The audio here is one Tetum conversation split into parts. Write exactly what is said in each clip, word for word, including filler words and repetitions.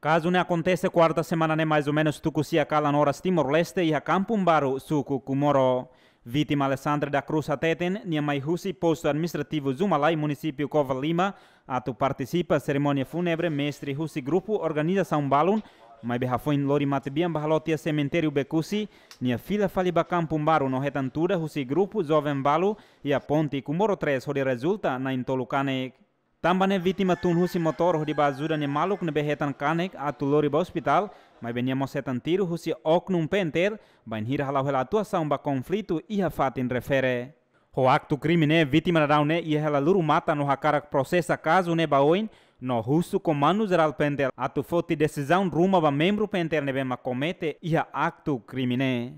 Kazu ne'e akontese kuarta semana ne'e, mais ou menus tuku sia kalan oras Timor-Leste, iha Kampung Baru, suku Comoro. Vítima Alessandra da Cruz hateten, nia mai husi postu administrativu Zumalai, munisípiu Covalima, atu partisipa serimónia fúnebre mestre husi grupu organizasaun balun, maibé hafoin lori matebian ba haloot iha semitériu Becusse, nia fila fali ba Kampung Baru no hetan tuda husi grupu joven balu iha ponte Comoro três, hodi rezulta na'in tolu kanek. Tanba ne'e vítima tun husi motór hodi ba ajuda nia maluk ne'ebé hetan kanek atu lori ba ospitál, maibé nia mós hetan tiru husi oknum P N T L, bainhira hala'o hela atuasaun ba konflitu iha fatin refere. Ho aktu krime ne'e, vítima daudaun ne'e iha hela lurumatan no hakarak prosesa kazu ne'e ba oin, no husu Komandu Jerál P N T L atu foti desizaun ruma ba membru P N T L ne'ebé mak komete iha aktu krime ne'e.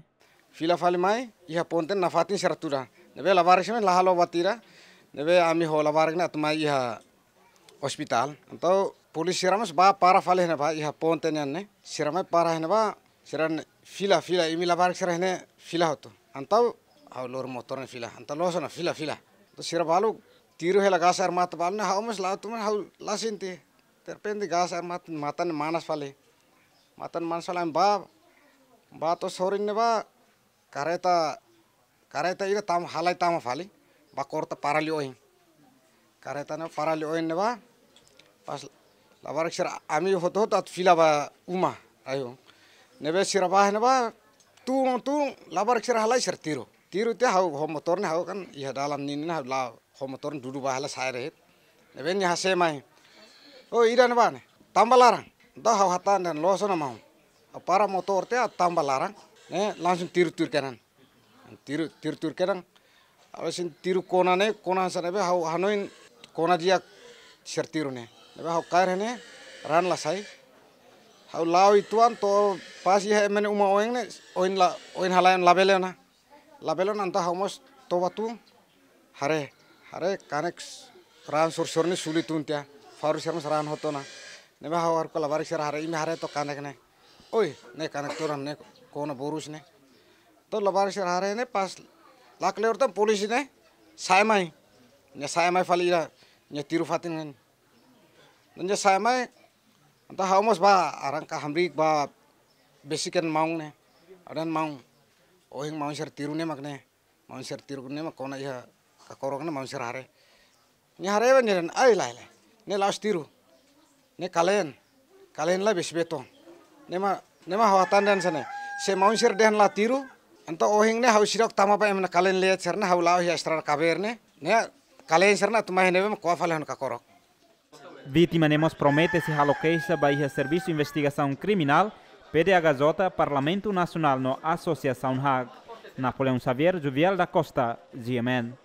Fila fali mai, iha ponte nafatin sira tuda. Ne'ebé labarik sira la halo buat ida, ne'ebé ami ho labarik ne'e atu mai iha ospitál. Entaun polísia sira mós ba para fali iha ne'ebá, iha ponte nian ne'e. Sira mai para iha ne'ebá, sira ne'e fila, fila, imi labarik sira iha ne'e fila hotu. Entaun ha'u lori motór ne'e fila, entaun loos ona fila, fila. Entaun sira balu tiru hela gás air mata balu ne'e, ha'u mós la'o tun, ha'u la sente. Derrepente gás air mata, matan manas fali. Matan manas fali, ami ba, ba to'o sorin ne'ebá, karreta, karreta ida tama, halai tama fali, ba korta para liu oin. Karreta ne'e para liu oin ne'ebá, pas labarik sira ami hotu-hotu atu fila ba uma, ayo. Ne'ebé sira ba ne'ebá, tun, tun, labarik sira halai sira tiru. Tiru tiha ha'u ho motór ne'e ha'u kan iha dalan ninin ha'u la'o ho motór ne'e dudu ba hela sa'e de'it. Ne'ebé nia hase'e mai. Oh, ida-ne'ebá ne'e, tama ba laran. Entaun ha'u hatán dehan loos ona maun. Ha'u para motór tiha tama ba laran. Ne'e langsung tiru tuir kedan. Tiru, tiru tuir kedan. Ha'u sente tiru kona ne'e, kona hanesan ne'ebé ha'u hanoin kona di'ak sira tiru ne'e. Ne'ebé ha'u kaer iha ne'e, raan la sai. Ha'u la'o uitoan to'o pas iha ema nia uma oin ne'e, oin la, oin halai oin labele ona. Labele ona entaun ha'u mós toba tun, haree, haree kanek raan sorsor ne'e suli tun tiha, faru sira mós raan hotu ona. Ne'ebé ha'u haruka labarik sira haree, imi haree to'ok kanek ne'e. Oi, ne'e kanek todan ne'e kona borus ne'e. Entaun labarik sira haree ne'e pas la kleur tan polísia ne'e sa'e mai. Nia sa'e mai fali ida, nia tiru fatin ne'e. Nia sa'e mai, entaun ha'u mós ba arranka hamriik ba besik an maun ne'e. Ha'u dehan maun, ohin maun sira tiru ne'e mak ne'e. Maun sira tiru ne'e mak kona iha kakorok ne'e maun sira haree. Nia haree ba nia dehan, ai lae, lae. Ne'e la'ós tiru. Ne'e kaleen. Kaleen la besik beton. Ne'e mak, ne'e mak ha'u hatán dehan hanesan ne'e. Se maun sira dehan la tiru, entaun ohin ne'e ha'u seidauk tama ba ema nia kaleen leet sira ne'e ha'u la'o iha estrada kabeer ne'e. Ne'e kaleen sira ne'e atu mai iha ne'ebé mak ko'a fali ha'u-nia kakorok. Vítima ne'e mós promete sei halo keixa ba iha Servisu Investigasaun Kriminál, P D H J, Parlamentu Nasionál no Asosiasaun HAK. Napoleão Xavier, Juvial da Costa, G M N.